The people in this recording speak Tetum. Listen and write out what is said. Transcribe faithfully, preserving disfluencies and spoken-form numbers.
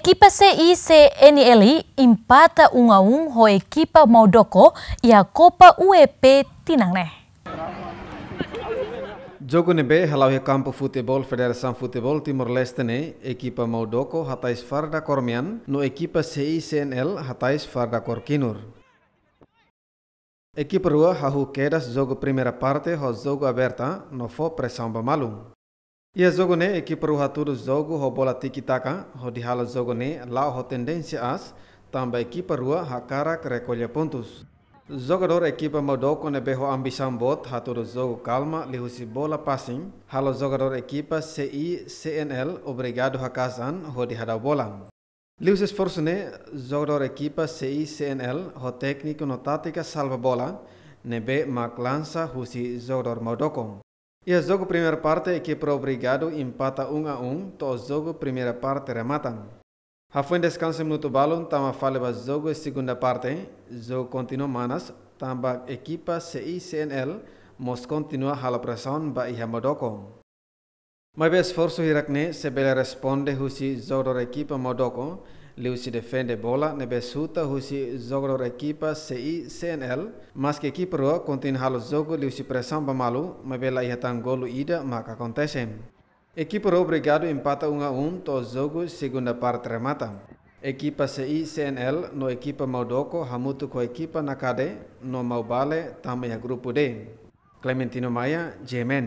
Ekipa C I C N L empata um a um ho ekipa Maudoko iha Copa U E P tinan ne'e. Jogu ne'ebé hala'o iha kampu futeból Federasaun Futeból Timor-Leste ne'e, ekipa Maudoko hatais farda kór mean, no ekipa C I C N L hatais farda kór kinur. Ekipa rua hahú kedas jogu primeira parte ho jogu aberta no fó presaun ba malu. Iha jogu ne'e ekipa rua hatudu jogu ho bola tiki-taka, hodi halo jogu ne'e la'o ho tendénsia aas, tanba ekipa rua hakarak rekolla pontus. Jogadór ekipa Maudoko ne'ebé ho ambisaun boot hatudu jogu kalma liuhusi bola passing, halo jogadór ekipa C I C N L obrigadu haka'as an hodi hadau bola. Liuhusi esforsu ne'e, jogadór ekipa C I C N L ho tékniku no tátika salva bola ne'ebé mak lansa husi jogadór Maudoko. Iha jogu primeira parte, ekipa rua obrigadu empata um a um to'o jogu primeira parte remata. Hafoin deskansa minutu balun, tama fali ba jogu segunda parte, jogu kontinua manas, tanba ekipa C I C N L mós kontinua halo presaun ba iha Maudoko. Maibé esforsu hirak ne'e sei bele responde husi jogadór ekipa Maudoko, liuhusi defende bola ne'ebé xuta husi jogadór ekipa C I C N L, maske ekipa rua kontinua halo jogu liuhusi presaun ba malu, maibé la iha tan golu ida mak akontese. Ekipa rua obrigadu empata um a um to'o jogu segunda parte remata. Ekipa C I C N L no ekipa Maudoko hamutuk ho ekipa Nakade no Maubale tama iha grupu D. Clementino Maia, G M N.